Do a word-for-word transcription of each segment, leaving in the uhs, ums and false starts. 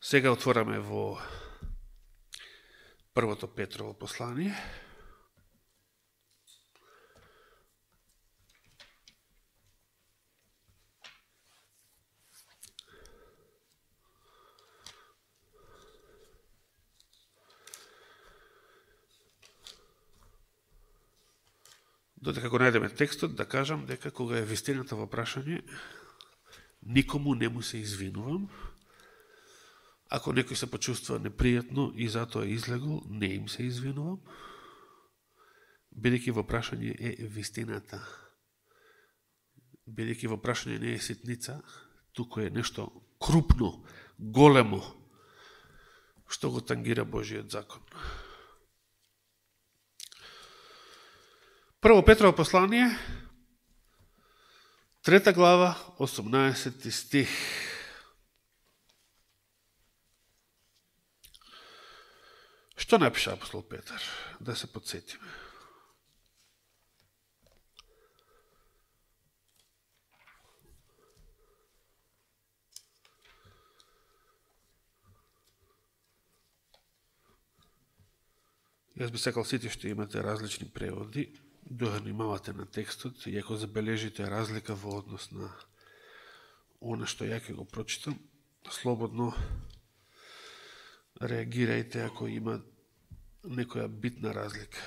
Сега отвораме во првото Петрово послание. Додека го најдеме текстот, да кажам дека кога е вистината во прашање, никому не му се извинувам. Ако некој се почувствува непријатно и затоа излегол, не им се извинувам, бидејќи во прашање е вистината. Бидејќи во прашање не е ситница, туку е нешто крупно, големо, што го тангира Божиот закон. Прво Петрово послание, трета глава, осумнаесети стих. Што напиша апостол Петар? Да се подсетиме. Јас би сакал сите што имате различни преводи, да внимавате на текстот, и ако забележите разлика во однос на оно што ја ќе го прочитам, слободно реагирајте ако има некоја битна разлика.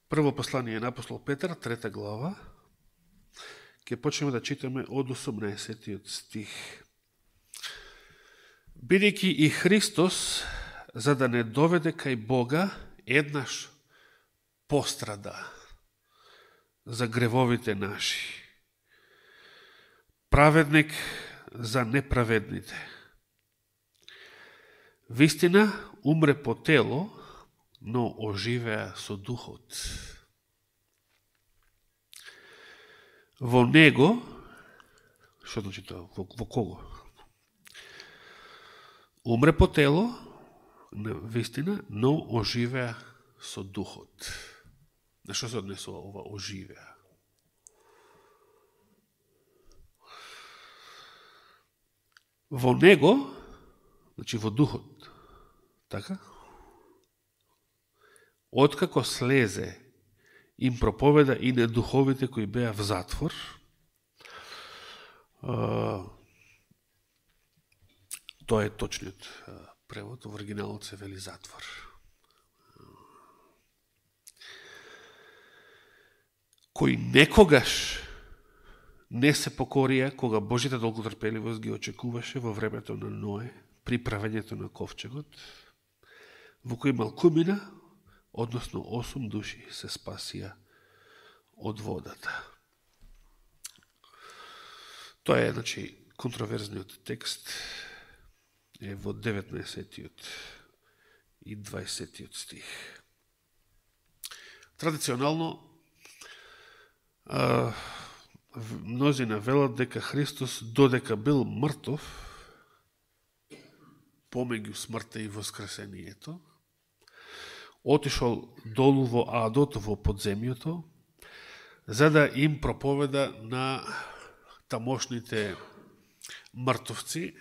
Прво послание на апостол Петар, трета глава, ќе почнеме да читаме од осумнаесетиот стих. Бидејќи и Христос, за да не доведе кај Бога, еднаш пострада за гревовите наши, праведник за неправедните. Вистина, умре по тело, но оживеа со духот. Во него, што значи тоа, во, во кого? Умре по тело, вистина, но оживеа со духот. На што се однесува ова оживеа? Во него, значи во духот, така? Откако слезе, им проповеда и на духовите кои беа в затвор, тоа е точниот превод, во оригиналот се вели затвор. Кои некогаш не се покорија кога Божјата долготрпеливост ги очекуваше во времето на Ное, при правењето на ковчегот, во кој малкумина, односно осум души, се спасија од водата. Тоа е, значи, контроверзниот текст е во деветнаесетиот и дваесетиот стих. Традиционално, а, мнозина велат дека Христос, додека бил мртов, помеѓу смртта и воскресението, отишол долу во адот, во подземјото, за да им проповеда на тамошните мртовци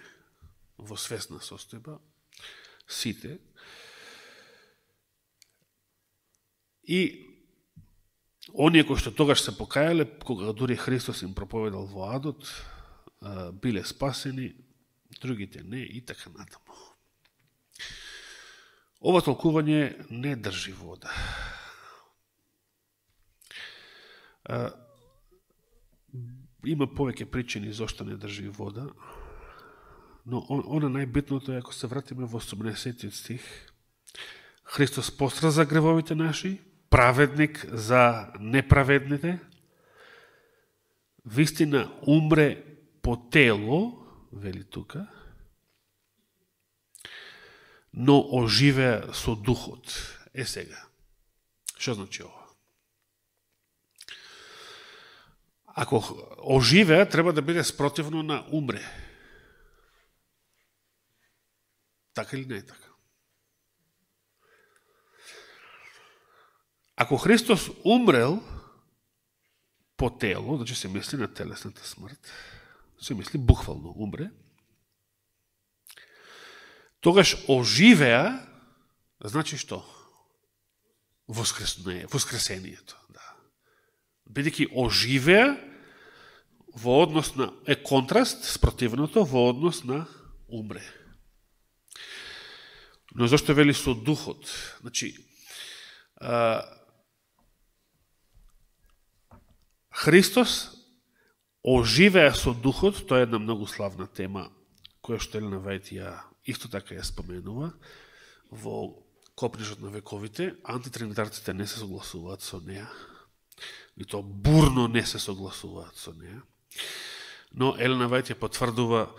во свесна состојба, сите, и оние кои што тогаш се покајале, кога дури Христос им проповедал во адот, биле спасени, другите не, и така натаму. Ова толкување не држи вода. А, има повеќе причини зашто не држи вода, но она најбитното е, ако се вратиме во осумнаесетиот стих, Христос постра за гревовите наши, праведник за неправедните, вистина умре по тело, вели тука, но оживеа со духот. Е сега, што значи ова? Ако оживеа, треба да биде спротивно на умре. Така или не е така? Ако Христос умрел по тело, значи се мисли на телесната смрт, се мисли буквално умре, Тогаш оживеа, значи што? Воскресението. Да. Бидејќи оживеа во однос на, е контраст спротивното во однос на умре. Но зашто вели со духот? Значи, а, Христос оживеа со духот, тоа е една многу славна тема, која што Елена Вајт ја исто така ја споменува во Копнежот на вековите. Антитринитарците не се согласуваат со неа, и то бурно не се согласуваат со неа. Но Елена Вајт ја потврдува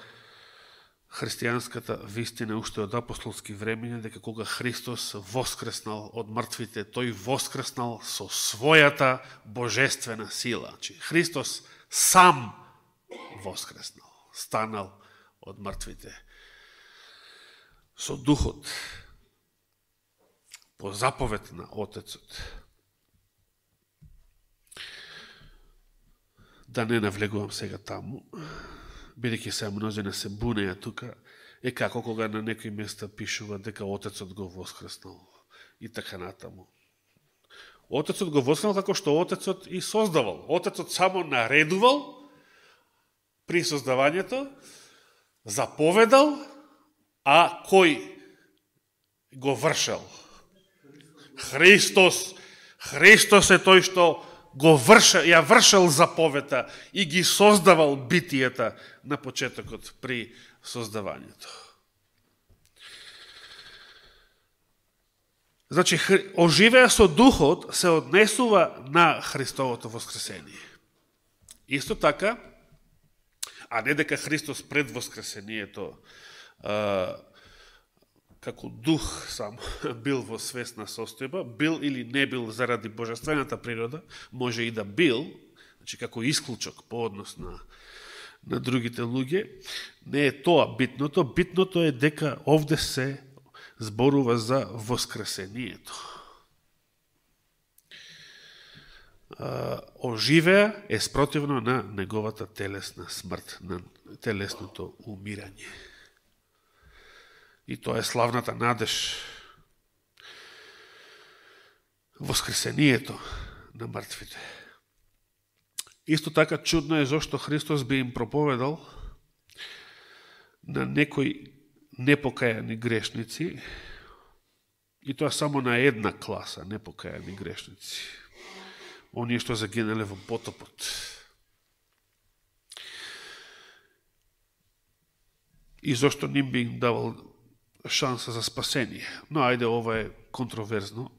христијанската вистина уште од апостолски времења, дека кога Христос воскреснал од мртвите, тој воскреснал со својата божествена сила. Значи, Христос сам воскреснал, станал од мртвите. Со духот, по заповед на Отецот. Да не навлегувам сега таму, бидејќи се мнозина се бунеја тука, е како кога на некои места пишува дека Отецот го воскреснал и така натаму. Отецот го воскреснал како што Отецот и создавал. Отецот само наредувал при создавањето, заповедал, а кој го вршел? Христос. Христос е тој што го вршел, ја вршел заповета и ги создавал битијата на почетокот при создавањето. Значи, оживеа со духот се однесува на Христовото воскресение. Исто така, а не дека Христос пред воскресението а, како дух сам бил во свесна состојба, бил или не бил заради божествената природа, може и да бил, значи како исклучок по однос на, на другите луѓе, не е тоа битното. Битното е дека овде се зборува за воскресението. А, оживеа е спротивно на неговата телесна смрт, на телесното умирање. И тоа е славната надеж. Воскресението на мртвите. Исто така чудно е зашто Христос би им проповедал на некои непокајани грешници, и тоа само на една класа непокајани грешници. Оние што загинале во потопот. И зашто ним би им давал шанса за спасение. Но ајде, ова е контроверзно,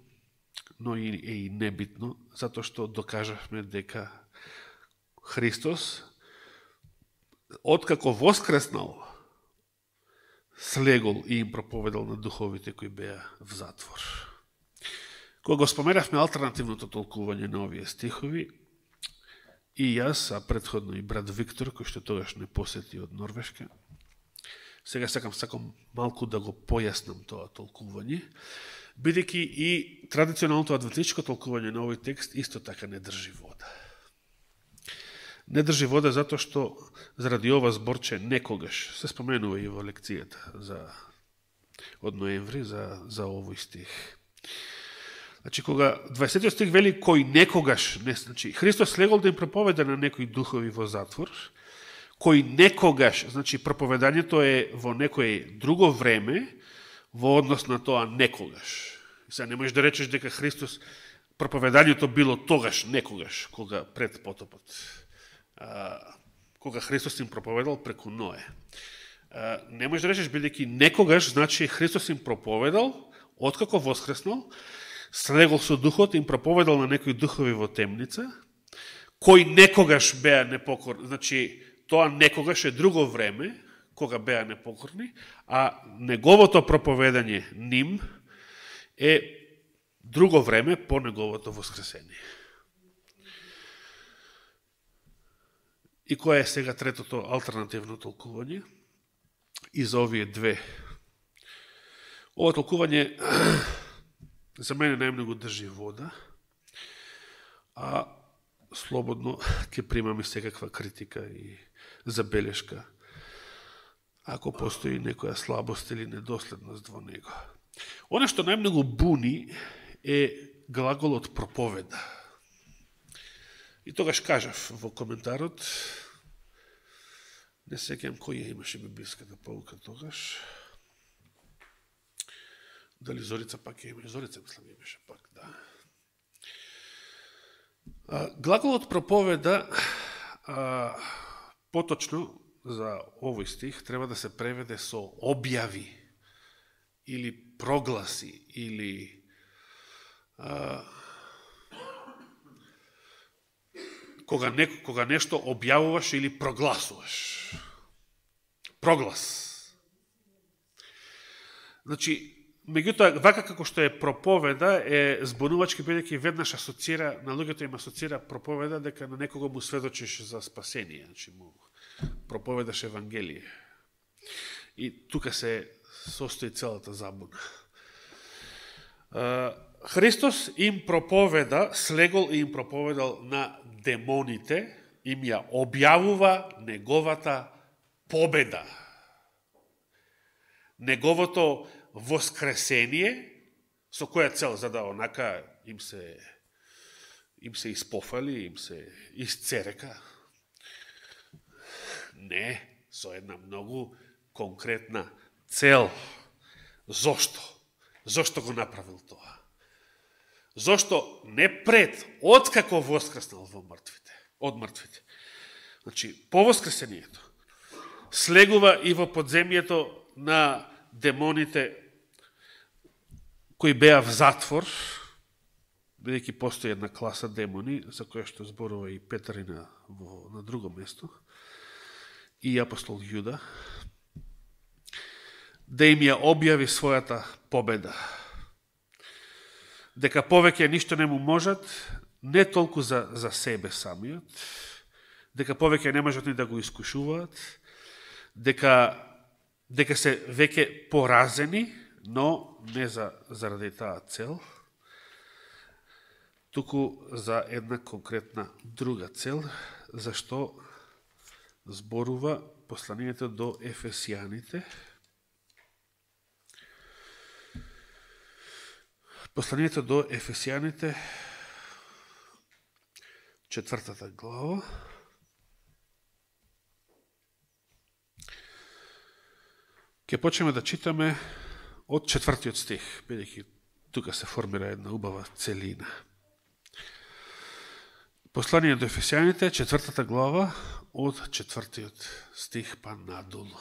но и е и небитно, затоа што докажавме дека Христос, откако воскреснал, слегол и им проповедал на духовите кои беа в затвор. Кога го споменавме алтернативното толкување на овие стихови, и јас, а предходно и брат Виктор, кој што тогаш не посети од Норвешка, сега сакам сакам малку да го појаснам тоа толкување, бидејќи и традиционалното адвентистичко толкување на овој текст исто така не држи вода. Не држи вода затоа што заради ова зборче некогаш се споменува и во лекцијата за од ноември за за овој стих. Значи кога дваесетиот стих вели кој некогаш, не, значи Христос слегол да им проповеда на некои духови во затвор, кој некогаш, значи проповедањето е во некое друго време во однос на тоа некогаш. Сега не можеш да речеш дека Христос проповедањето било тогаш, некогаш, кога пред потопот. А, кога Христос им проповедал преку Ное. А, не можеш да речеш бидејќи некогаш, значи Христос им проповедал откако воскреснал, слегол со духот, им проповедал на некои духови во темница, кои некогаш беа непокорни, значи тоа некогаш е друго време, кога беа непокорни, а неговото проповедање ним е друго време по неговото воскресение. И која е сега третото алтернативно толкување? И за овие две. Ова толкување за мене најмногу држи вода, а слободно ќе примаме секаква критика и забелешка. ако постои некоја слабост или недоследност во него. Оно што најмногу буни е глаголот проповеда. И тогаш кажав во коментарот, не сеќам кој ја имаше библиската поука тогаш. Дали Зорица пак ја имаше? Зорица мислам имаше пак, да. А, глаголот проповеда, а, поточно за овој стих, треба да се преведе со објави или прогласи или а, кога, не, кога нешто објавуваш или прогласуваш. Проглас. Значи, меѓутоа, вака како што е проповеда, е збунувачки, бидејќи веднаш асоцира, на луѓето им асоцира проповеда дека на некого му сведочиш за спасение, значи му проповедаш Евангелие. И тука се состои целата забуна. Христос им проповеда, слегол и им проповедал на демоните, им ја објавува неговата победа. Неговото воскресение, со која цел, за да онака им се им се испофали, им се исцерека. Не, со една многу конкретна цел. Зошто? Зошто го направил тоа? Зошто не пред, откако воскреснал во мртвите, од мртвите. Значи, по воскресението слегува и во подземјето на демоните кои беа в затвор, бидејќи постои една класа демони, за која што зборува и Петар и на, во, на друго место, и апостол Јуда, да им ја објави својата победа. Дека повеќе ништо не му можат, не толку за, за себе самиот, дека повеќе не можат ни да го искушуваат, дека дека се веќе поразени, но не за, заради таа цел, туку за една конкретна друга цел, зашто зборува посланието до Ефесијаните. Посланието до Ефесијаните, четвртата глава, ќе почнеме да читаме од четвртиот стих, бидејќи тука се формира една убава целина. Послание до Ефесијаните, четвртата глава, од четвртиот стих па надолу.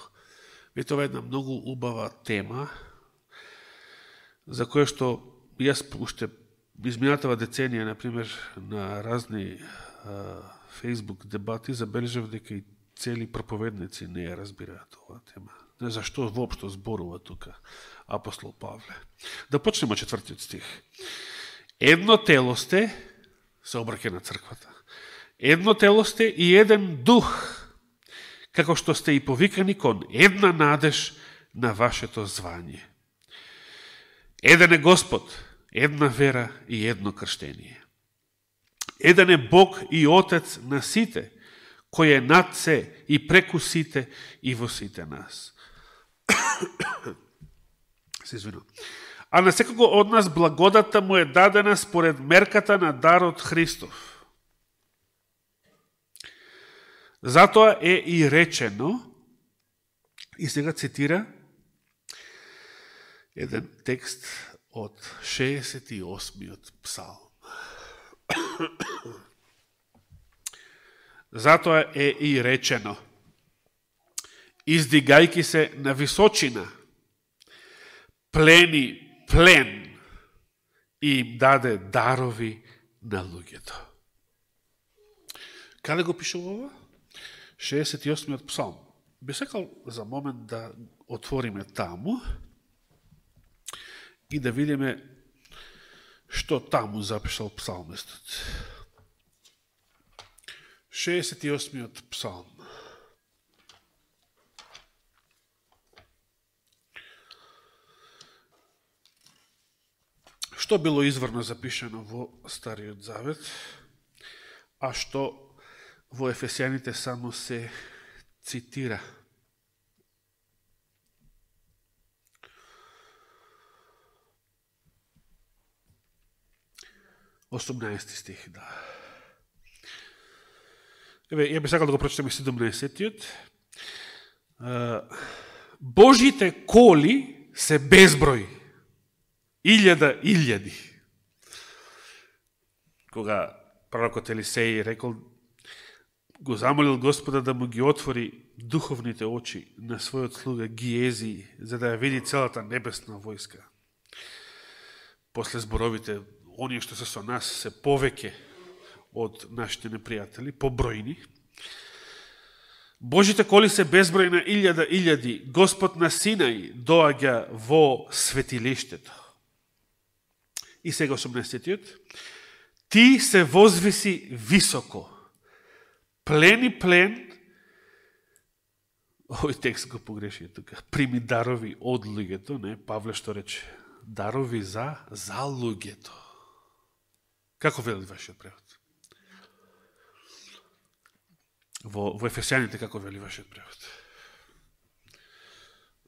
И тоа е една многу убава тема, за која што јас уште изминатава деценија, например, на разни а, Facebook дебати, забележав дека и цели проповедници не ја разбираат оваа тема. Не зашто воопшто зборува тука апостол Павле. Да почнеме од четвртиот стих. Едно тело сте, се обраќа на црквата, едно тело сте и еден дух, како што сте и повикани кон една надеж на вашето звање. Еден е Господ, една вера и едно крштение. Еден е Бог и Отец на сите, кој е над се и преку сите и во сите нас. Се извинувам. А на секого од нас благодата му е дадена според мерката на дарот Христов. Затоа е и речено, и сега цитира еден текст од шеесет и осмиот псалм. Затоа е и речено, издигајки се на височина, плени плен и им даде дарови на луѓето. Каде го пишува ова? шеесет и осмиот псалм. Би сакал за момент да отвориме таму и да видиме што таму запишал псалмистот. шеесет и осмиот псалм. Што било изворно запишено во Стариот Завет, а што во Ефесијаните само се цитира. осумнаесети стих, да. Еве, ја би сакал да го прочитам и седумнаесеттиот. Божите коли се безброј. Илјада илјади. Кога пророкот Елисеј рекол, го замолил Господа да му ги отвори духовните очи на својот слуга Гиези, за да ја види целата небесна војска. После зборовите, оние што се со нас се повеќе од нашите непријатели, побројни. Божите коли се безброј на илјада илјади, Господ на Синај доаѓа во светилиштето. И сега осумнаесеттиот. Ти се возвиси високо. Плен и плен, овој текст го погреши тука, прими дарови од луѓето, не, Павле што рече, дарови за, за луѓето. Како вели вашиот превод? Во, во Ефесијаните како вели вашиот превод?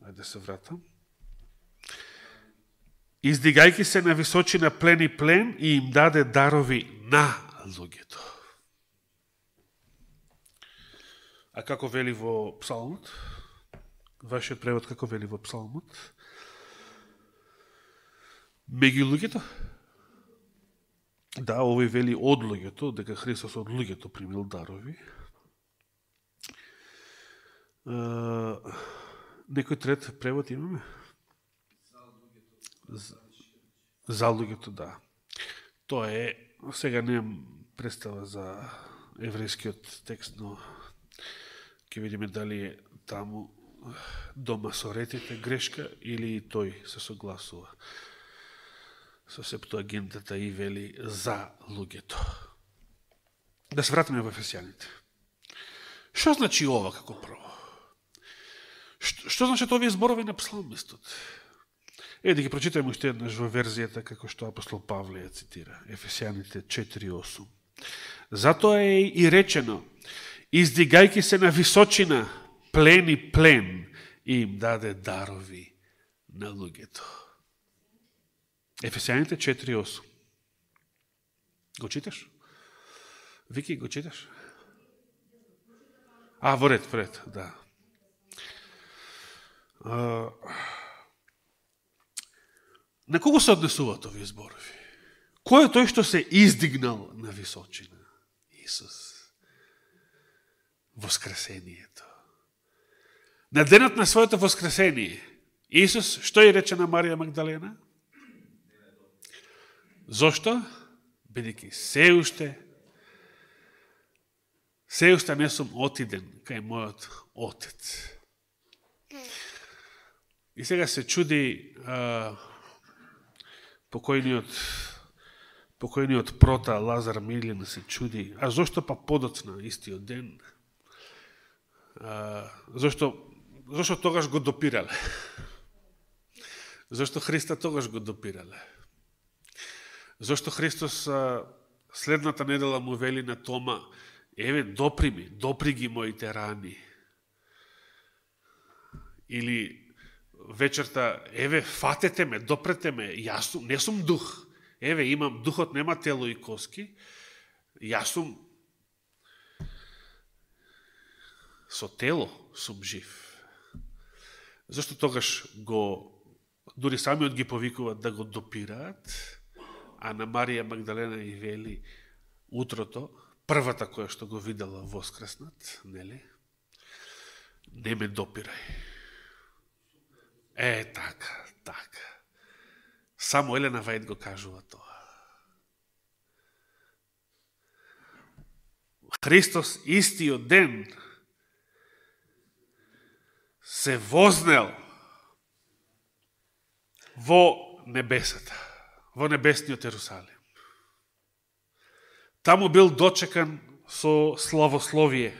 Ајде се вратам. Издигајки се на височина плен и плен и им даде дарови на луѓето. А како вели во Псалмот? Вашиот превод како вели во Псалмот? Меѓу луѓето? Да, овој вели од луѓето, дека Христос од луѓето примил дарови. Uh, некој трет превод имаме? За, за луѓето, да. Тоа е, сега немам представа за еврејскиот текст, но ќе видиме дали е таму до масоретите грешка или тој се согласува со Септуагинтата и вели за луѓето. Да се вратиме во Ефесијаните. Што значи ова како прво? Што, што значат овие зборови на псалмистот? Е, да ги прочитаме уште еднаш во верзијата како што апостол Павле ја цитира. Ефесијаните четири осум. Затоа е и речено, издигајки се на височина, плен и плен, и им даде дарови на луѓето. Ефесијаните четири осум. Го читаш? Вики, го читаш? А, во ред, во ред, да. А, на кого се однесуваат овие зборови? Кој е тој што се издигнал на височина? Исус. Воскресението. На денот на своето воскресение, Исус, што ја рече на Марија Магдалена? Зошто? Бидејќи се уште се уште не сум отиден кај мојот Отец. И сега се чуди а, покојниот покојниот прота Лазар Милин се чуди, а зошто па подоцна истиот ден? А, зошто зошто тогаш го допирале? Зошто Христа тогаш го допирале? Зошто Христос а, следната недела му вели на Тома, еве, допри ми, допри ги моите рани. Или вечерта, еве, фатете ме, допрете ме, јас сум, не сум дух. Еве, имам духот, нема тело и коски. Јас сум со тело сум жив. Зашто тогаш го, дури самиот ги повикуваат да го допираат, а на Марија Магдалена и вели утрото, првата која што го видела воскреснат, нели? Не ме допирај. Е, така, така. Само Елена Вајд го кажува тоа. Христос истиот ден се вознел во небесата, во небесниот Ерусалим. Таму бил дочекан со славословие,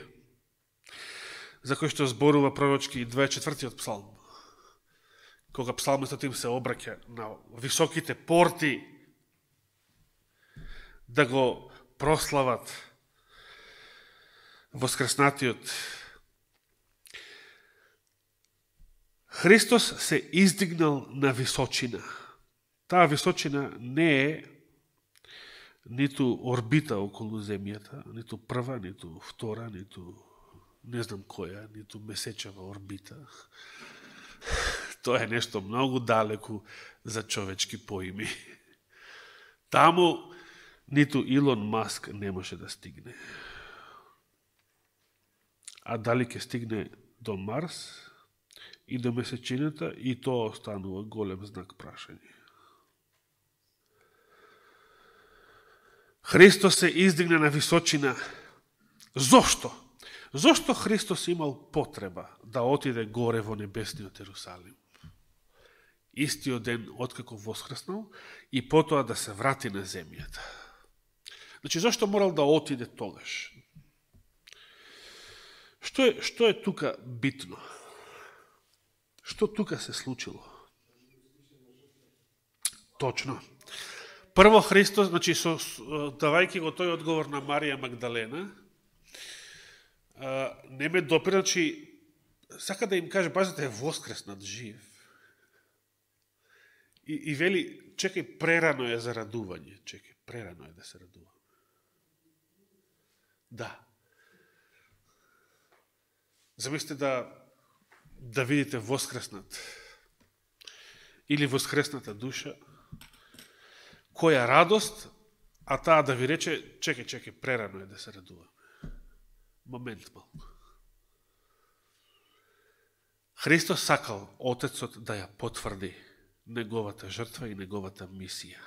за кој што зборува пророчки дваесет и четвртиот псалм, кога псалмистот им се обраќа на високите порти да го прослават воскреснатиот. Христос се издигнал на височина. Таа височина не е ниту орбита околу земјата, ниту прва, ниту втора, ниту не знам која, ниту месечева орбита. Тоа е нешто многу далеку за човечки поими. Таму ниту Илон Маск не може да стигне. А дали ќе стигне до Марс и до месечината, и тоа останува голем знак прашање. Христос се издигна на височина. Зошто? Зошто Христос имал потреба да отиде горе во небесниот Ерусалим? Истиот ден откако воскреснал и потоа да се врати на земјата. Значи, зашто морал да отиде тогаш? Што е, што е тука битно? Што тука се случило? Точно. Прво Христос, значи, со, давајќи го тој одговор на Марија Магдалена, не ме допира, значи, сака да им каже, пазите, е воскреснат жив. И, и вели, чекај, прерано е за радување. Чекај, прерано е да се радува. Да. Замислите да, да видите воскреснат или воскресната душа, која радост, а таа да ви рече, чекај, чекај, прерано е да се радува. Момент малку. Христос сакал Отецот да ја потврди неговата жртва и неговата мисија.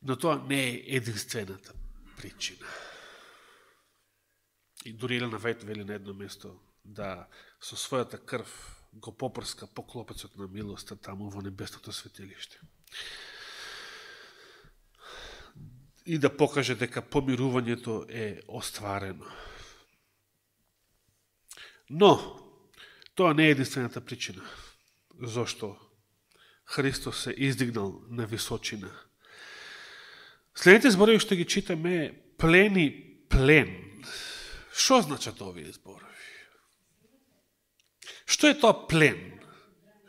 Но тоа не е единствената причина. И дури Елена Вајт вели на едно место да со својата крв го попрска по клопецот на милоста таму во небесното светилиште. И да покаже дека помирувањето е остварено. Но, тоа не е единствената причина. Зошто Христос се издигнал на височина. Следните зборови што ги читаме, плени плен. Што значат овие зборови? Што е тоа плен?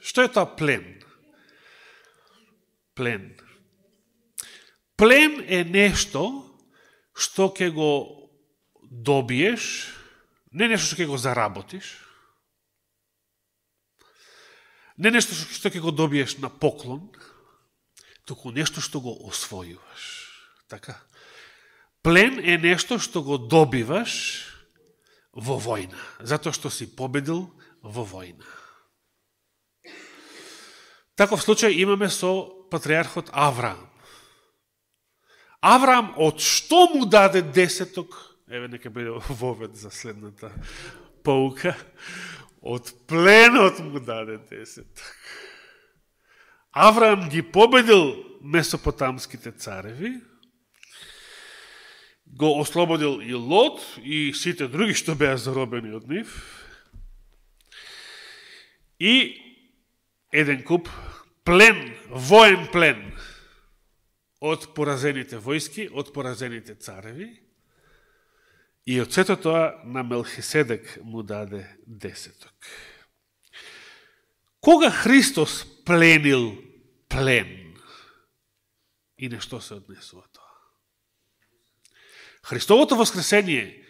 Што е тоа плен? Плен. Плен е нешто што ќе го добиеш, не нешто што ќе го заработиш, не нешто што ќе го добиеш на поклон, туку нешто што го освојуваш. Така? Плен е нешто што го добиваш во војна, затоа што си победил во војна. Таков случај имаме со патриархот Авраам. Авраам од што му даде десеток? Еве, нека биде вовед за следната поука. Од пленот му даде десеток. Авраам ги победил месопотамските цареви, го ослободил и Лот и сите други што беа заробени од нив, и еден куп плен, воен плен од поразените војски, од поразените цареви, и од сето тоа на Мелхиседек му даде десеток. Кога Христос пленил плен, и на што се однесува тоа? Христовото воскресение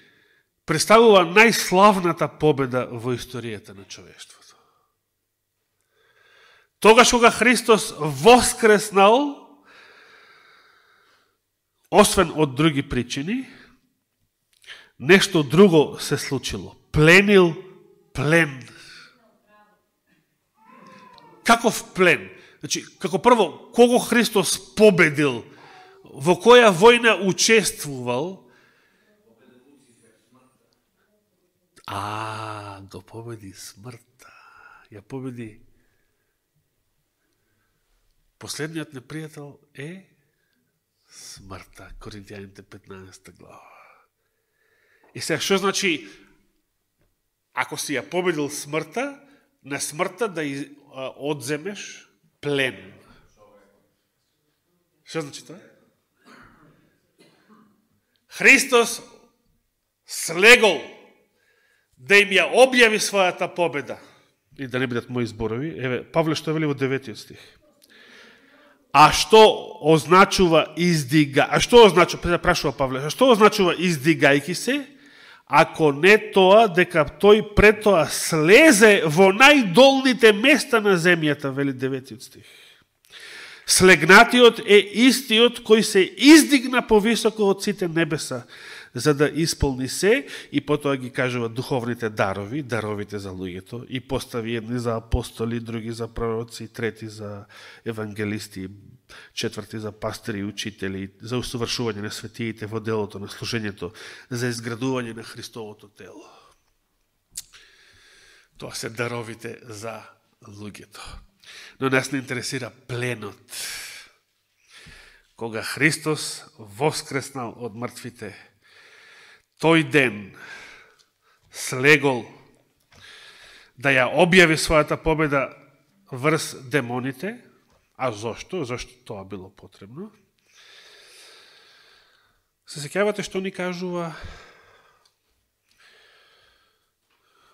представува најславната победа во историјата на човештвото. Тогаш кога Христос воскреснал, освен од други причини, нешто друго се случило. Пленил плен. Каков плен? Значи, како прво, кого Христос победил, во која војна учествувал? А, го победи смртта. Ја победи. Последниот непријател е смртта. Коринтијаните петнаесета глава. И сега, што значи, ако си ја победил смртта, на смртта да одземеш плен? Што значи тоа? Христос слегол да им ја објави својата победа. И да не бидат мои зборови, еве, Павле што вели во деветиот стих. А што означува издига? А што означува, прашува Павле, а што означува издигајки се? Ако не тоа, дека тој пред тоа слезе во најдолните места на земјата, вели деветиот стих. Слегнатиот е истиот кој се издигна повисоко од сите небеса, за да исполни се, и потоа ги кажува духовните дарови, даровите за луѓето, и постави едни за апостоли, други за пророци, трети за евангелисти, четврти за пастори и учители, за усовршување на светиите во делото на служењето, за изградување на Христовото тело. Тоа се даровите за луѓето. Но нас не интересира пленот. Кога Христос воскреснал од мртвите, тој ден слегол да ја објави својата победа врз демоните. А зошто? Зошто тоа било потребно? Се сеќавате што ни кажува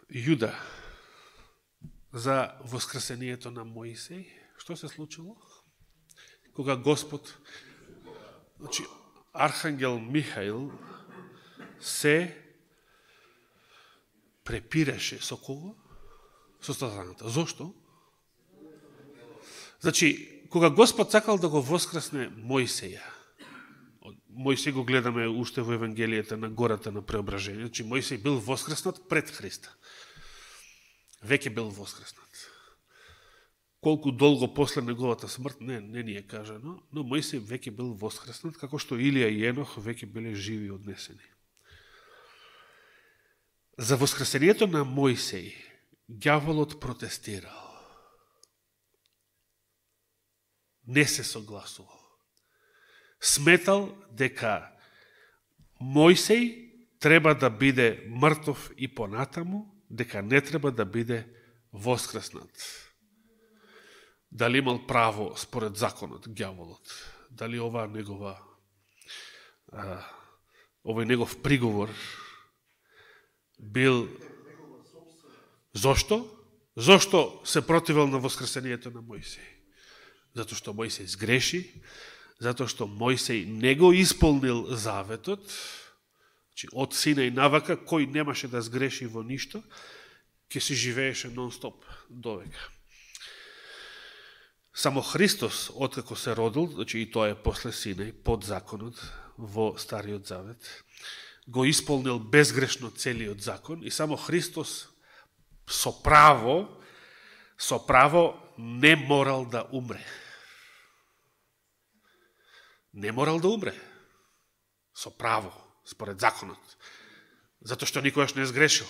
Јуда за воскресението на Моисеј? Што се случило? Кога Господ, значи, Архангел Михаил се препираше со кого? Со сатаната. Зошто? Значи, кога Господ сакал да го воскресне Мојсеја, Мојсеј го гледаме уште во Евангелијата на гората на преображение, значи Мојсеј бил воскреснат пред Христа. Веќе бил воскреснат. Колку долго после неговата смрт, не, не ни е кажано, но Мојсеј веќе бил воскреснат, како што Илија и Енох веќе биле живи и однесени. За воскресението на Мојсеј ѓаволот протестирал. Не се согласувал. Сметал дека Мојсеј треба да биде мртов и понатаму, дека не треба да биде воскреснат. Дали имал право според законот, ѓаволот? Дали ова негова, а, овој негов приговор бил... Зошто? Зошто се противел на воскресението на Мојсеј? Затоа што Мојсеј сгреши, затоа што Мојсеј не го исполнил заветот, значи од сина и навака, кој немаше да сгреши во ништо, ќе си живееше нон-стоп довека. Само Христос, откако се родил, значи и тоа е после Синај, под законот, во Стариот Завет, го исполнил безгрешно целиот закон и само Христос со право, со право не морал да умре. Не морал да умре. Со право, според законот. Затоа што никогаш не сгрешил.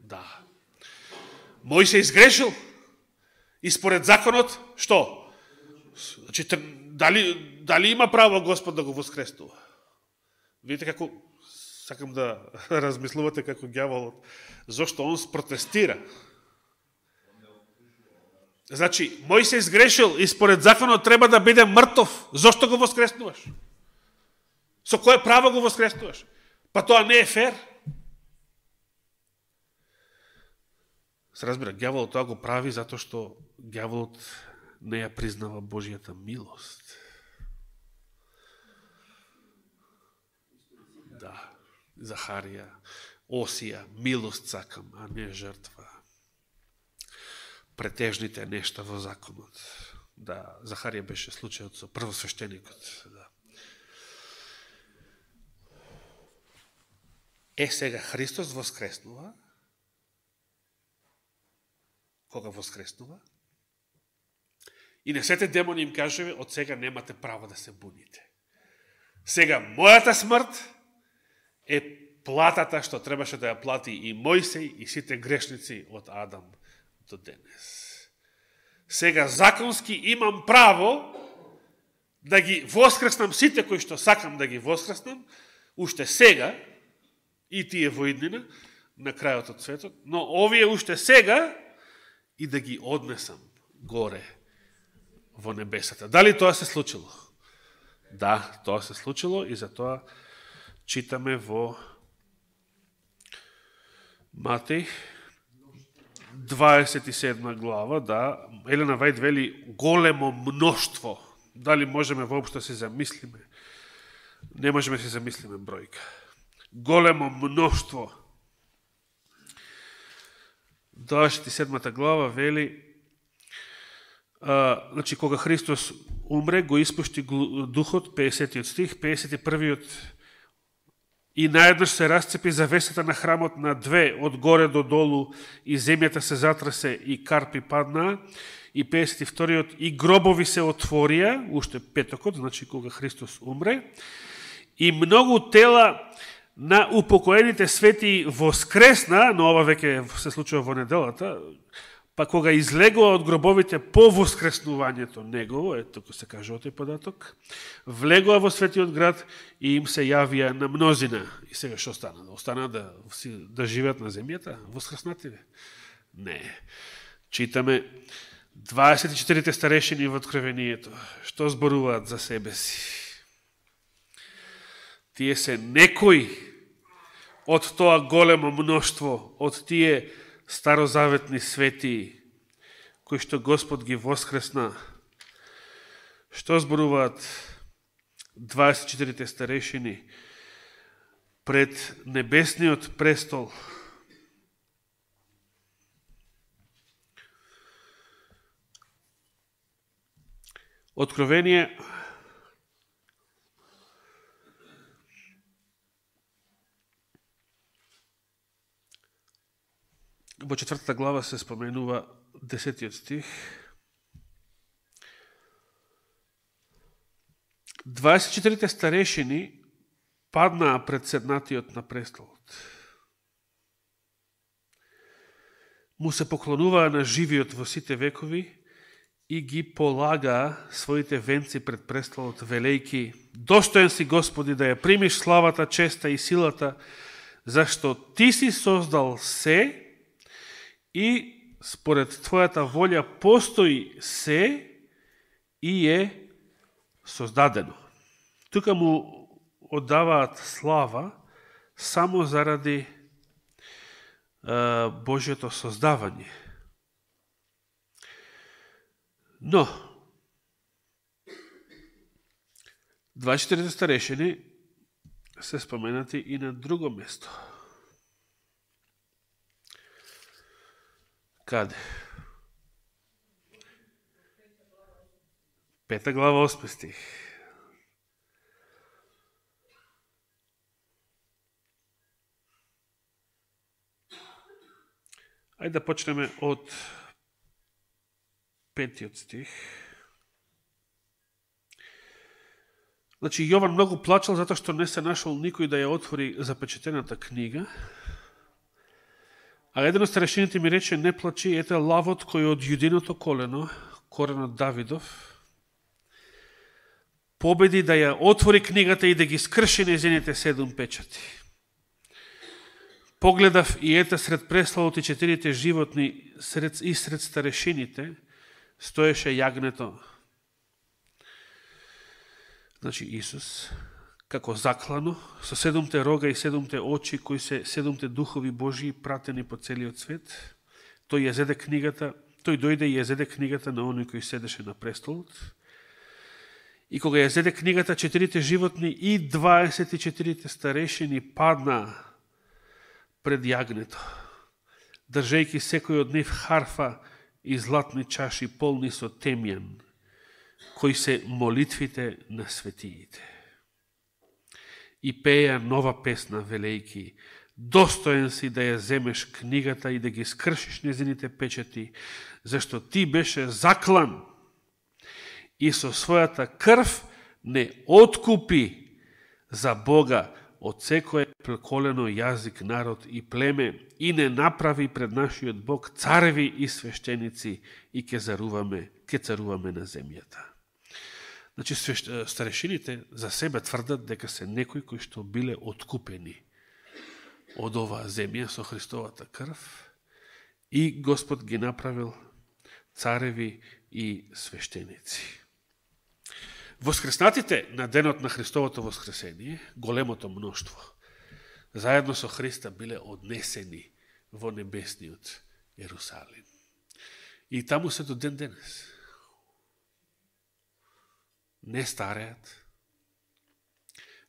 Да. Мојсеј сгрешил и според законот, што? Значи, дали, дали има право Господ да го воскреснува? Видите како, сакам да размислувате како ѓаволот, зашто он спротестира. Значи, Мојсеј сгрешил и според законот треба да биде мртов. Зошто го воскреснуваш? Со кое право го воскреснуваш? Па тоа не е фер. Се разбира, ѓаволот тоа го прави затоа што ѓаволот не ја признава Божијата милост. Да, Захарија, Осија, милост сакам, а не жртва. Претежните нешта во законот. Да, Захарија беше случајот со првосвештеникот. Да. Е, сега Христос воскреснува. Кога воскреснува? И на сете демони им кажува, од сега немате право да се буните. Сега, мојата смрт е платата што требаше да ја плати и Мојсеј и сите грешници од Адам до денес. Сега законски имам право да ги воскреснам сите кои што сакам да ги воскреснам, уште сега, и тие во иднина, на крајот од светот, но овие уште сега и да ги однесам горе во небесата. Дали тоа се случило? Да, тоа се случило и затоа читаме во Матеј дваесет и седма глава, да, Елена Вајд вели големо мноштво Дали можеме воопшто се замислиме? Не можеме се замислиме бројка. Големо мноштво. дваесет и седмата глава вели, а, значи, кога Христос умре, го испушти духот, педесетиот стих, педесет и првиот, и наеднаш се расцепи завесата на храмот на две, од горе до долу, и земјата се затрасе, и карпи паднаа, и педесет и вториот, и гробови се отворија, уште петокот, значи кога Христос умре, и многу тела на упокоените свети воскресна, но ова веќе се случува во неделата, па кога излегува од гробовите по воскреснувањето негово, ето туку се кажува тој податок, влегува во светиот град и им се јавија на мнозина. И сега што стана? Остана да, да живеат на земјата? Воскреснативе? Не. Читаме дваесет и четирите старешини во Откровението. Што зборуваат за себе си? Тие се некои од тоа големо мноштво, од тие старозаветни свети, кои што Господ ги воскресна. Што зборуваат дваесет и четирите старешини пред небесниот престол? Откровение во четвртата глава се споменува десетиот стих. дваесет и четирите старешини паднаа пред седнатиот на престолот. Му се поклонуваа на живиот во сите векови и ги полагаа своите венци пред престолот, велејки: достоен си, Господи, да ја примиш славата, честа и силата, зашто Ти си создал се и според Твојата волја постои се и е создадено. Тука му оддаваат слава само заради е, Божјото создавање. Но, дваесет и четирите старешини се споменати и на друго место. Каде? Пета глава, осми стих. Ајде да почнеме од петиот стих. Значи, Јован многу плачал затоа што не се нашол никој да ја отвори запечатената книга. А еден од старешините ми рече: не плачи, ете лавот кој од јудиното колено, коренот Давидов, победи да ја отвори книгата и да ги скрши нејзините седум печати. Погледав и ете сред преславот и четирите животни сред, и сред старешините стоеше јагнето, значи Исус, како заклано, со седумте рога и седумте очи, кои се седумте духови Божии пратени по целиот свет. Тој ја зеде книгата, тој дојде и ја зеде книгата на оној кој седеше на престолот. И кога ја зеде книгата, четирите животни и дваесет и четирите старешини паднаа пред јагнето, држејќи секој од нив харфа и златни чаши полни со темјан, кои се молитвите на светиите. И пеја нова песна, велејки: достоен си да ја земеш книгата и да ги скршиш незините печати, зашто ти беше заклан и со својата крв не откупи за Бога од секое преколено, јазик, народ и племе, и не направи пред нашиот Бог цареви и свештеници, и ке царуваме, ке царуваме на земјата. Значи, старешините за себе тврдат дека се некои кои што биле откупени од оваа земја со Христовата крв и Господ ги направил цареви и свештеници. Воскреснатите на денот на Христовото воскресение, големото мноштво, заедно со Христа биле однесени во небесниот Ерусалим. И таму се до ден денес. не стареат,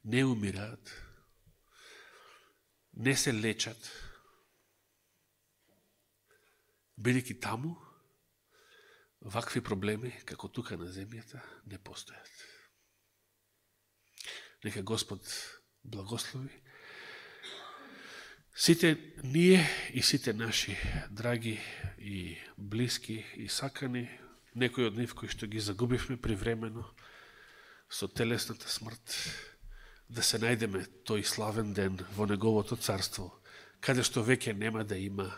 не умираат, не се лечат, бидејќи таму вакви проблеми, како тука на земјата, не постојат. Нека Господ благослови сите ние и сите наши драги и блиски и сакани, некои од нив кои што ги загубивме привремено со телесната смрт, да се најдеме тој славен ден во Неговото царство, каде што веќе нема да има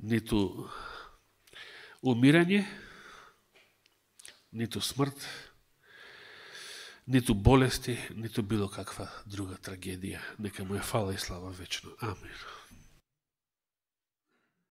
ниту умирање, ниту смрт, ниту болести, ниту било каква друга трагедија. Нека му е фала и слава вечно. Амин.